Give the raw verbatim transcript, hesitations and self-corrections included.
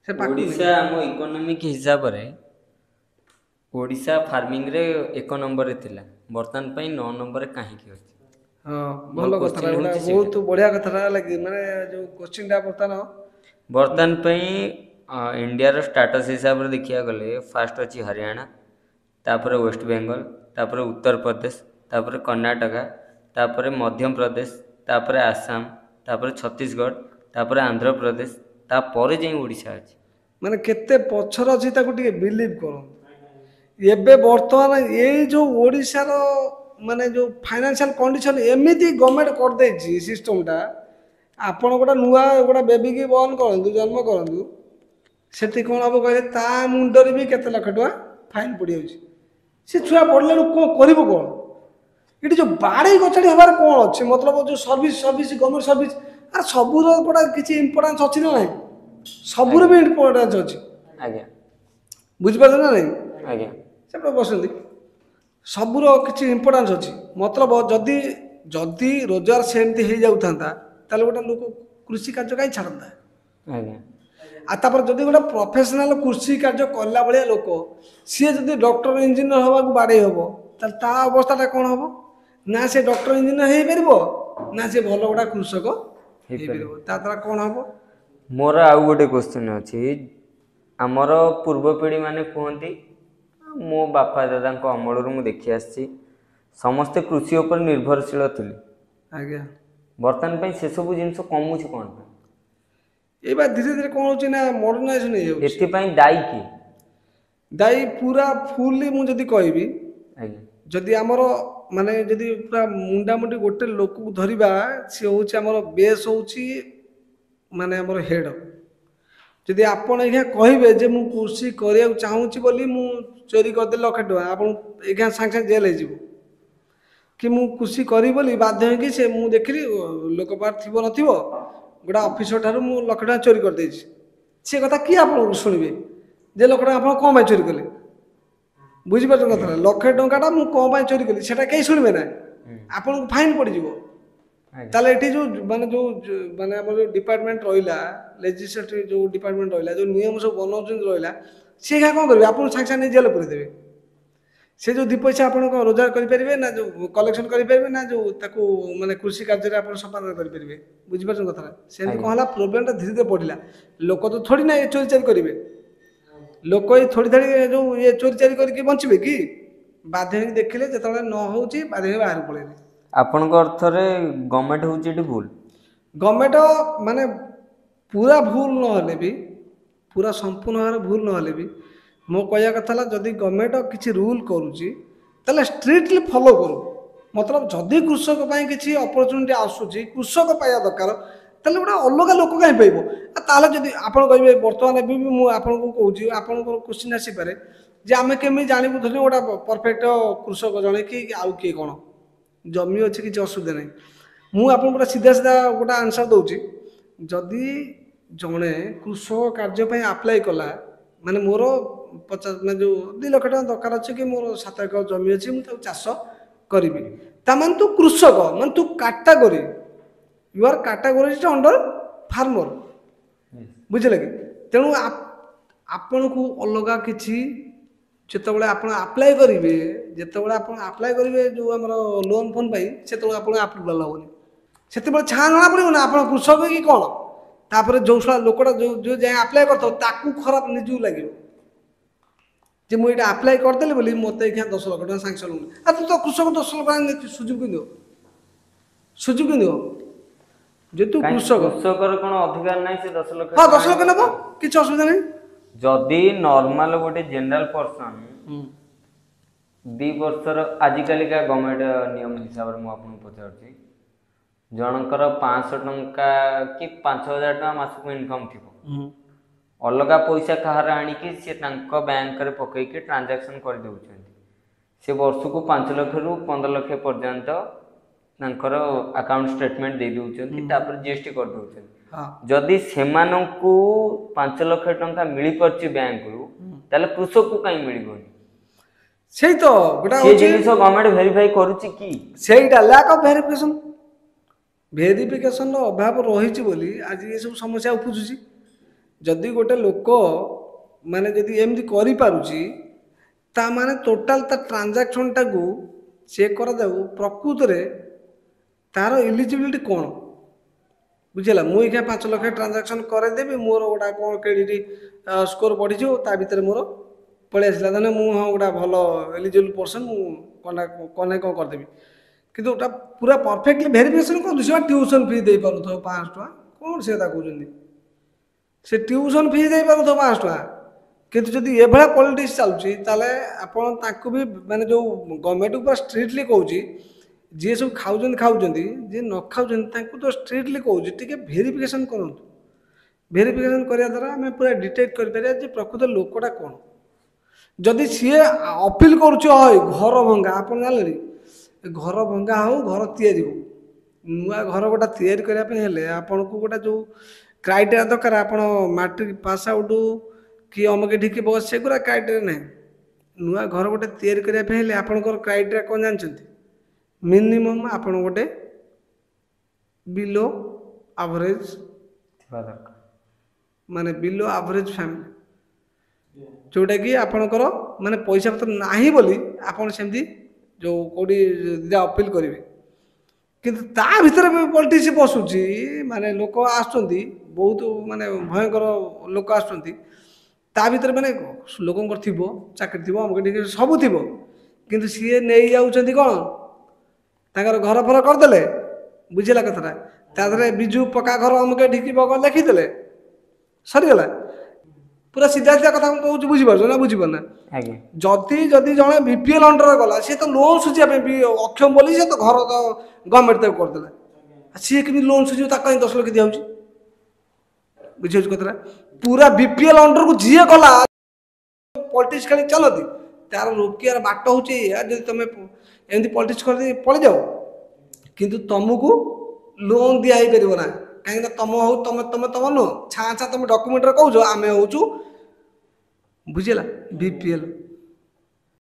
ସେ ପାଖକୁ ଓଡ଼ିଶା ଆମ ଇକୋନୋମିକ୍ ହିସାବରେ ଓଡ଼ିଶା ଫାର୍ମିଂରେ ଏକ ନମ୍ବରରେ ଥିଲା, ବର୍ତ୍ତମାନ ପାଇଁ ନଅ ନମ୍ବରରେ କାହିଁକି ଅଛି? ହଁ, ଭଲ କଥାଟା ଗୋଟେ, ବହୁତ ବଢ଼ିଆ କଥାଟା ହେଲା କି ମାନେ ଯେଉଁ କୋଶ୍ଚିନ୍ଟା ବର୍ତ୍ତମାନ ବର୍ତ୍ତମାନ ପାଇଁ ଇଣ୍ଡିଆର ଷ୍ଟାଟସ୍ ହିସାବରେ ଦେଖିବାକୁ ଗଲେ ଫାଷ୍ଟ ଅଛି ହରିୟାଣା, ତାପରେ ୱେଷ୍ଟବେଙ୍ଗଲ, ତାପରେ ଉତ୍ତରପ୍ରଦେଶ, ତାପରେ କର୍ଣ୍ଣାଟକା, ତାପରେ ମଧ୍ୟପ୍ରଦେଶ, ତାପରେ ଆସାମ, ତାପରେ ଛତିଶଗଡ଼, ତାପରେ ଆନ୍ଧ୍ରପ୍ରଦେଶ, ତାପରେ ଯାଇ ଓଡ଼ିଶା ଅଛି। ମାନେ କେତେ ପଛରେ ଅଛି ତାକୁ ଟିକେ ବିଲିଭ୍ କରନ୍ତୁ। ଏବେ ବର୍ତ୍ତମାନ ଏଇ ଯେଉଁ ଓଡ଼ିଶାର ମାନେ ଯେଉଁ ଫାଇନାନ୍ସିଆଲ କଣ୍ଡିସନ୍ ଏମିତି ଗଭର୍ଣ୍ଣମେଣ୍ଟ କରିଦେଇଛି ସିଷ୍ଟମଟା, ଆପଣ ଗୋଟେ ନୂଆ ଗୋଟେ ବେବିକି ବର୍ନ କରନ୍ତୁ, ଜନ୍ମ କରନ୍ତୁ, ସେଠି କ'ଣ ହେବ କହିଲେ ତା ମୁଣ୍ଡରେ ବି କେତେ ଲକ୍ଷ ଟଙ୍କା ଫାଇନ୍ ପଡ଼ିଯାଉଛି। ସେ ଛୁଆ ବଢ଼ିଲା ବେଳକୁ କ'ଣ କରିବ କ'ଣ? ଏଠି ଯେଉଁ ବାଡ଼େଇ କଚାଡ଼ି ହେବାର କ'ଣ ଅଛି? ମତଲବ ଯେଉଁ ସର୍ଭିସ୍ ସର୍ଭିସ୍ ଗଭର୍ଣ୍ଣମେଣ୍ଟ ସର୍ଭିସ୍, ଆରେ ସବୁର ଗୋଟେ କିଛି ଇମ୍ପୋର୍ଟାନ୍ସ ଅଛି ନା ନାହିଁ? ସବୁର ବି ଇମ୍ପୋର୍ଟାନ୍ସ ଅଛି। ଆଜ୍ଞା। ବୁଝିପାରୁଛନ୍ତି ନା ନାହିଁ? ଆଜ୍ଞା। ସେପଟେ ବସନ୍ତି, ସବୁର କିଛି ଇମ୍ପୋର୍ଟାନ୍ସ ଅଛି। ମତଲବ ଯଦି ଯଦି ରୋଜଗାର ସେମିତି ହେଇଯାଉଥାନ୍ତା ତାହେଲେ ଗୋଟେ ଲୋକ କୃଷି କାର୍ଯ୍ୟ କାହିଁ ଛାଡ଼ନ୍ତା? ଆଜ୍ଞା। ଆଉ ତାପରେ ଯଦି ଗୋଟେ ପ୍ରଫେସନାଲ କୃଷି କାର୍ଯ୍ୟ କଲା ଭଳିଆ ଲୋକ ସିଏ ଯଦି ଡକ୍ଟର ଇଞ୍ଜିନିୟର ହେବାକୁ ବାଡ଼େଇ ହେବ, ତାହେଲେ ତା ଅବସ୍ଥାଟା କ'ଣ ହେବ? ନା ସେ ଡକ୍ଟର ଇଞ୍ଜିନିୟର ହେଇପାରିବ, ନା ସେ ଭଲ ଗୋଟା କୃଷକ ହେଇପାରିବ। ତା ଦ୍ୱାରା କ'ଣ ହେବ? ମୋର ଆଉ ଗୋଟେ କୋଶ୍ଚିନ୍ ଅଛି। ଆମର ପୂର୍ବ ପିଢ଼ି ମାନେ କୁହନ୍ତି, ମୋ ବାପା ଦାଦାଙ୍କ ଅମଳରୁ ମୁଁ ଦେଖି ଆସିଛି, ସମସ୍ତେ କୃଷି ଉପରେ ନିର୍ଭରଶୀଳ ଥିଲେ। ଆଜ୍ଞା। ବର୍ତ୍ତମାନ ପାଇଁ ସେସବୁ ଜିନିଷ କମୁଛି କ'ଣ ପାଇଁ? ଏଇବା ଧୀରେ ଧୀରେ କ'ଣ ହେଉଛି ନା ମଡ଼ର୍ଣ୍ଣାଇଜେସନ୍ ହେଇଯାଉଛି। ଏଥିପାଇଁ ଦାୟୀ କିଏ? ଦାୟୀ ପୁରା ଫୁଲି ମୁଁ ଯଦି କହିବି, ଆଜ୍ଞା, ଯଦି ଆମର ମାନେ ଯଦି ପୁରା ମୁଣ୍ଡାମୁଣ୍ଡି ଗୋଟେ ଲୋକକୁ ଧରିବା, ସିଏ ହେଉଛି ଆମର ବେସ୍ ହେଉଛି ମାନେ ଆମର ହେଡ଼। ଯଦି ଆପଣ ଏଇଖିଣା କହିବେ ଯେ ମୁଁ କୃଷି କରିବାକୁ ଚାହୁଁଛି ବୋଲି ମୁଁ ଚୋରି କରିଦେଲି ଲକ୍ଷେ ଟଙ୍କା, ଆପଣ ଏଇଖିଣା ସାଙ୍ଗେ ସାଙ୍ଗେ ଜେଲ୍ ହେଇଯିବ। କି ମୁଁ କୃଷି କରିବି ବୋଲି ବାଧ୍ୟ ହେଇକି ସେ ମୁଁ ଦେଖିଲି ଲୋକ ପାଖରେ ଥିବ ନଥିବ, ଗୋଟେ ଅଫିସର ଠାରୁ ମୁଁ ଲକ୍ଷେ ଟଙ୍କା ଚୋରି କରିଦେଇଛି, ସେ କଥା କିଏ ଆପଣଙ୍କୁ ଶୁଣିବେ ଯେ ଲକ୍ଷେ ଟଙ୍କା ଆପଣ କ'ଣ ପାଇଁ ଚୋରି କଲେ? ବୁଝିପାରୁଛନ୍ତି କଥାଟା? ଲକ୍ଷେ ଟଙ୍କାଟା ମୁଁ କ'ଣ ପାଇଁ ଚୋରି କଲି ସେଟା କେହି ଶୁଣିବେ ନା, ଆପଣଙ୍କୁ ଫାଇନ୍ ପଡ଼ିଯିବ। ତାହେଲେ ଏଠି ଯେଉଁ ମାନେ ଯେଉଁ ମାନେ ଆମର ଯେଉଁ ଡିପାର୍ଟମେଣ୍ଟ ରହିଲା, ଲେଜିସ୍ଲେଟିଭ୍ ଯେଉଁ ଡିପାର୍ଟମେଣ୍ଟ ରହିଲା, ଯେଉଁ ନିୟମ ସବୁ ବନାଉଛନ୍ତି ରହିଲା, ସିଏ କ'ଣ କରିବେ? ଆପଣଙ୍କୁ ସାଙ୍ଗେ ସାଙ୍ଗେ ନେଇ ଜେଲ୍ ପୁରେଇଦେବେ। ସେ ଯେଉଁ ଦୁଇ ପଇସା ଆପଣ କ'ଣ ରୋଜଗାର କରିପାରିବେ, ନା ଯେଉଁ କଲେକ୍ସନ୍ କରିପାରିବେ, ନା ଯେଉଁ ତାକୁ ମାନେ କୃଷି କାର୍ଯ୍ୟରେ ଆପଣ ସମ୍ପାଦନ କରିପାରିବେ? ବୁଝିପାରୁଛନ୍ତି କଥାଟା? ସେମିତି କ'ଣ ହେଲା, ପ୍ରୋବ୍ଲେମଟା ଧୀରେ ଧୀରେ ବଢ଼ିଲା। ଲୋକ ତ ଥୋଡ଼ି ନା ଏ ଚୋରି ଚାରି କରିବେ, ଲୋକ ଏଇ ଥୋଡ଼ି ଥାଡ଼ି ଯେଉଁ ଇଏ ଚୋରି ଚାରି କରିକି ବଞ୍ଚିବେ କି? ବାଧ୍ୟ ହେଇକି ଦେଖିଲେ ଯେତେବେଳେ ନ ହେଉଛି ବାଧ୍ୟ ହେଇକି ବାହାରକୁ ପଳେଇଲେ। ଆପଣଙ୍କ ଅର୍ଥରେ ଗଭର୍ଣ୍ଣମେଣ୍ଟ ହେଉଛି ଏଠି ଭୁଲ? ଗଭର୍ଣ୍ଣମେଣ୍ଟ ମାନେ ପୁରା ଭୁଲ ନହେଲେ ବି, ପୁରା ସମ୍ପୂର୍ଣ୍ଣ ଭାବରେ ଭୁଲ ନହେଲେ ବି, ମୋ କହିବା କଥା ହେଲା ଯଦି ଗଭର୍ଣ୍ଣମେଣ୍ଟ କିଛି ରୁଲ୍ କରୁଛି ତାହେଲେ ଷ୍ଟ୍ରିକ୍ଟଲି ଫଲୋ କରୁ। ମତଲବ ଯଦି କୃଷକ ପାଇଁ କିଛି ଅପରଚୁନିଟି ଆସୁଛି, କୃଷକ ପାଇବା ଦରକାର, ତାହେଲେ ଗୋଟେ ଅଲଗା ଲୋକ କାହିଁ ପାଇବ? ଆଉ ତାହେଲେ ଯଦି ଆପଣ କହିବେ ବର୍ତ୍ତମାନ ଏବେ ବି ମୁଁ ଆପଣଙ୍କୁ କହୁଛି, ଆପଣଙ୍କର କୋଶ୍ଚିନ୍ ଆସିପାରେ ଯେ ଆମେ କେମିତି ଜାଣିବୁ ଧରି ଗୋଟେ ପରଫେକ୍ଟ କୃଷକ ଜଣେ କି ଆଉ କିଏ କ'ଣ ଜମି ଅଛି, କିଛି ଅସୁବିଧା ନାହିଁ। ମୁଁ ଆପଣଙ୍କୁ ଗୋଟେ ସିଧା ସିଧା ଗୋଟେ ଆନ୍ସର୍ ଦେଉଛି। ଯଦି ଜଣେ କୃଷକ କାର୍ଯ୍ୟ ପାଇଁ ଆପ୍ଲାଏ କଲା, ମାନେ ମୋର ପଚାଶ ମାନେ ଯେଉଁ ଦୁଇ ଲକ୍ଷ ଟଙ୍କା ଦରକାର ଅଛି କି ମୋର ସାତ ଏକର ଜମି ଅଛି ମୁଁ ତାକୁ ଚାଷ କରିବି, ତାମାନେ ତୁ କୃଷକ, ମାନେ ତୁ category, you are category under farmer, ବୁଝିଲେ କି? ତେଣୁ ଆପଣଙ୍କୁ ଅଲଗା କିଛି ଯେତେବେଳେ ଆପଣ ଆପ୍ଲାଏ କରିବେ, ଯେତେବେଳେ ଆପଣ ଆପ୍ଲାଏ କରିବେ ଯେଉଁ ଆମର ଲୋନ୍ ଫୋନ୍ ପାଇଁ, ସେତେବେଳେ ଆପଣ ଆପ୍ରୁଭାଲ୍ ହେବନି। ସେତେବେଳେ ଛାଁ ଜଣା ପଡ଼ିବ ନା ଆପଣ କୃଷକ କି କ'ଣ। ତାପରେ ଯେଉଁ ଶଳା ଲୋକଟା ଯେଉଁ ଯେଉଁ ଯାଏଁ ଆପ୍ଲାଏ କରିଥିବ ତାକୁ ଖରାପ ନିଜକୁ ଲାଗିବ ଯେ ମୁଁ ଏଇଟା ଆପ୍ଲାଏ କରିଦେଲି ବୋଲି ମୋତେ ଏଇଖିଣା ଦଶ ଲକ୍ଷ ଟଙ୍କା ସାଙ୍ଗସନ୍ ହେଉନି। ଆଉ ତୁ ତ କୃଷକ, ଦଶ ଲକ୍ଷ ଟଙ୍କା ସୁଝିବୁ କେମିତି? ସୁଝିବୁ କେମିତି ଯେହେତୁ କୃଷକ? କୃଷକର କ'ଣ ଅଧିକାର ନାହିଁ ସେ ଦଶ ଲକ୍ଷ? ହଁ, ଦଶ ଲକ୍ଷ ନେବ, କିଛି ଅସୁବିଧା ନାହିଁ। ଯଦି ନର୍ମାଲ ଗୋଟେ ଜେନେରାଲ ପର୍ସନ ଦୁଇ ବର୍ଷର, ଆଜିକାଲିକା ଗଭର୍ଣ୍ଣମେଣ୍ଟ ନିୟମ ହିସାବରେ ମୁଁ ଆପଣଙ୍କୁ ପଚାରୁଛି, ଜଣଙ୍କର ପାଞ୍ଚଶହ ଟଙ୍କା କି ପାଞ୍ଚ ହଜାର ଟଙ୍କା ମାସକୁ ଇନକମ୍ ଥିବ, ଅଲଗା ପଇସା କାହାର ଆଣିକି ସିଏ ତାଙ୍କ ବ୍ୟାଙ୍କରେ ପକେଇକି ଟ୍ରାଞ୍ଜାକ୍ସନ୍ କରିଦେଉଛନ୍ତି, ସେ ବର୍ଷକୁ ପାଞ୍ଚ ଲକ୍ଷରୁ ପନ୍ଦର ଲକ୍ଷ ପର୍ଯ୍ୟନ୍ତ ତାଙ୍କର ଆକାଉଣ୍ଟ ଷ୍ଟେଟମେଣ୍ଟ ଦେଇ ଦେଉଛନ୍ତି, ତାପରେ ଜି ଏସ୍ ଟି କରିଦେଉଛନ୍ତି। ଯଦି ସେମାନଙ୍କୁ ପାଞ୍ଚ ଲକ୍ଷ ଟଙ୍କା ମିଳିପାରୁଛି ବ୍ୟାଙ୍କରୁ, ତାହେଲେ କୃଷକକୁ କାହିଁ ମିଳିବନି? ସେଇ ତ ଗୋଟେ ଜିନିଷ ଗଭର୍ଣ୍ଣମେଣ୍ଟ ଭେରିଫାଇ କରୁଛି କି? ସେଇଟା ଲ୍ୟାକ୍ ଅଫ୍ ଭେରିଫିକେସନ୍, ଭେରିଫିକେସନ୍ର ଅଭାବ ରହିଛି ବୋଲି ଆଜି ଏସବୁ ସମସ୍ୟା ଉପୁଜୁଛି। ଯଦି ଗୋଟେ ଲୋକ ମାନେ ଯଦି ଏମିତି କରିପାରୁଛି, ତା ମାନେ ଟୋଟାଲ ତା ଟ୍ରାଞ୍ଜାକ୍ସନଟାକୁ ଚେକ୍ କରାଯାଉ, ପ୍ରକୃତରେ ତାର ଇଲିଜିବିଲିଟି କ'ଣ। ବୁଝିଲା? ମୁଁ ଏଇଖିନା ପାଞ୍ଚ ଲକ୍ଷ ଟ୍ରାଞ୍ଜାକ୍ସନ୍ କରେଇଦେବି, ମୋର ଗୋଟା କ'ଣ କ୍ରେଡ଼ିଟ୍ ସ୍କୋର ବଢ଼ିଯିବ, ତା ଭିତରେ ମୋର ପଳେଇ ଆସିଲା, ତାହେଲେ ମୁଁ ହଁ ଗୋଟା ଭଲ ଏଲିଜିବଲ୍ ପର୍ସନ୍, ମୁଁ କ'ଣ ନା କ'ଣ ନା କ'ଣ କରିଦେବି। କିନ୍ତୁ ଗୋଟା ପୁରା ପରଫେକ୍ଟଲି ଭେରିଫିକେସନ୍ କରନ୍ତୁ। ସେ ଟ୍ୟୁସନ୍ ଫି ଦେଇପାରୁଥିବ ପାଞ୍ଚଶହ ଟଙ୍କା, କ'ଣ ସେ କଥା କହୁଛନ୍ତି? ସେ ଟ୍ୟୁସନ୍ ଫି ଦେଇପାରୁଥିବ ପାଞ୍ଚଶହ ଟଙ୍କା, କିନ୍ତୁ ଯଦି ଏଭଳିଆ ପଲିଟିକ୍ସ ଚାଲୁଛି, ତାହେଲେ ଆପଣ ତାଙ୍କୁ ବି ମାନେ ଯେଉଁ ଗଭର୍ଣ୍ଣମେଣ୍ଟକୁ ପୁରା ଷ୍ଟ୍ରିକ୍ଟଲି କହୁଛି, ଯିଏ ସବୁ ଖାଉଛନ୍ତି ଖାଉଛନ୍ତି, ଯିଏ ନ ଖାଉଛନ୍ତି ତାଙ୍କୁ ତ ଷ୍ଟ୍ରିକ୍ଟଲି କହୁଛି, ଟିକେ ଭେରିଫିକେସନ୍ କରନ୍ତୁ। ଭେରିଫିକେସନ୍ କରିବା ଦ୍ୱାରା ଆମେ ପୁରା ଡିଟେକ୍ଟ କରିପାରିବା ଯେ ପ୍ରକୃତ ଲୋକଟା କ'ଣ। ଯଦି ସିଏ ଅପିଲ କରୁଛି, ହଇ ଘର ଭଙ୍ଗା, ଆପଣ ଜାଣିଲେଣି, ଘର ଭଙ୍ଗା ହଉ, ଘର ତିଆରି ହଉ, ନୂଆ ଘର ଗୋଟା ତିଆରି କରିବା ପାଇଁ ହେଲେ ଆପଣଙ୍କୁ ଗୋଟେ ଯେଉଁ କ୍ରାଇଟେରିଆ ଦରକାର, ଆପଣ ମାଟ୍ରିକ ପାସ୍ ଆଉଟ୍ କି ଅମକେ ଢିକି ବସ୍, ସେଗୁଡ଼ା କ୍ରାଇଟେରିଆ ନାହିଁ। ନୂଆ ଘର ଗୋଟେ ତିଆରି କରିବା ପାଇଁ ହେଲେ ଆପଣଙ୍କର କ୍ରାଇଟେରିଆ କ'ଣ ଜାଣିଛନ୍ତି? ମିନିମମ୍ ଆପଣ ଗୋଟେ ବିଲୋ ଆଭରେଜ ଥିବା ଦରକାର, ମାନେ ବିଲୋ ଆଭରେଜ ଫ୍ୟାମିଲି, ଯେଉଁଟାକି ଆପଣଙ୍କର ମାନେ ପଇସା ପତ୍ର ନାହିଁ ବୋଲି ଆପଣ ସେମିତି ଯେଉଁ କେଉଁଠି ଦୁଇଟା ଅପିଲ କରିବେ। କିନ୍ତୁ ତା ଭିତରେ ବି ପଲିଟିକ୍ସ ପଶୁଛି, ମାନେ ଲୋକ ଆସୁଛନ୍ତି, ବହୁତ ମାନେ ଭୟଙ୍କର ଲୋକ ଆସୁଛନ୍ତି ତା ଭିତରେ। ମାନେ ଲୋକଙ୍କର ଥିବ ଚାକିରି ଥିବ, ଅମକ ଟିକେ ସବୁ ଥିବ, କିନ୍ତୁ ସିଏ ନେଇଯାଉଛନ୍ତି କ'ଣ, ତାଙ୍କର ଘର ଫର କରିଦେଲେ। ବୁଝିଲା କଥାଟା? ତା ଦେହରେ ବିଜୁ ପକ୍କା ଘର ଅମକେ ଢିକି ବଗ ଲେଖିଦେଲେ, ସରିଗଲା। ପୁରା ସିଧା ସିଧା କଥା ମୁଁ କହୁଛି, ବୁଝିପାରୁଛ ନା ବୁଝିପାରୁନା? ଆଜ୍ଞା। ଯଦି ଯଦି ଜଣେ ବି ପି ଏଲ୍ ଅଣ୍ଡରରେ ଗଲା, ସିଏ ତ ଲୋନ୍ ସୁଝିବା ପାଇଁ ବି ଅକ୍ଷମ ବୋଲି ସେ ତ ଘର ତ ଗଭର୍ଣ୍ଣମେଣ୍ଟ ତାକୁ କରିଦେଲା। ସିଏ କେମିତି ଲୋନ୍ ସୁଝିବ? ତାକୁ କାହିଁ ଦଶ ଲକ୍ଷ ଦିଆହେଉଛି? ବୁଝିପାରୁଛୁ କଥାଟା? ପୁରା ବି ପି ଏଲ୍ ଅଣ୍ଡରକୁ ଯିଏ ଗଲା, ପଲିଟିକ୍ସ ଖେଳି ଚାଲନ୍ତି, ତାର ରୋକିବାର ବାଟ ହେଉଛି ଏଇଆ, ଯଦି ତମେ ଏମିତି ପଲିଟିକ୍ସ କରିଦେଇ ପଳେଇଯାଅ, କିନ୍ତୁ ତମକୁ ଲୋନ୍ ଦିଆ ହେଇପାରିବ ନା। କାହିଁକିନା ତମ ହଉ ତମେ ତମେ ତମ ନୁହଁ, ଛାଁ ଛାଁ ତମେ ଡକୁମେଣ୍ଟରେ କହୁଛ ଆମେ ହେଉଛୁ, ବୁଝିଲା, ବି ପି ଏଲ୍।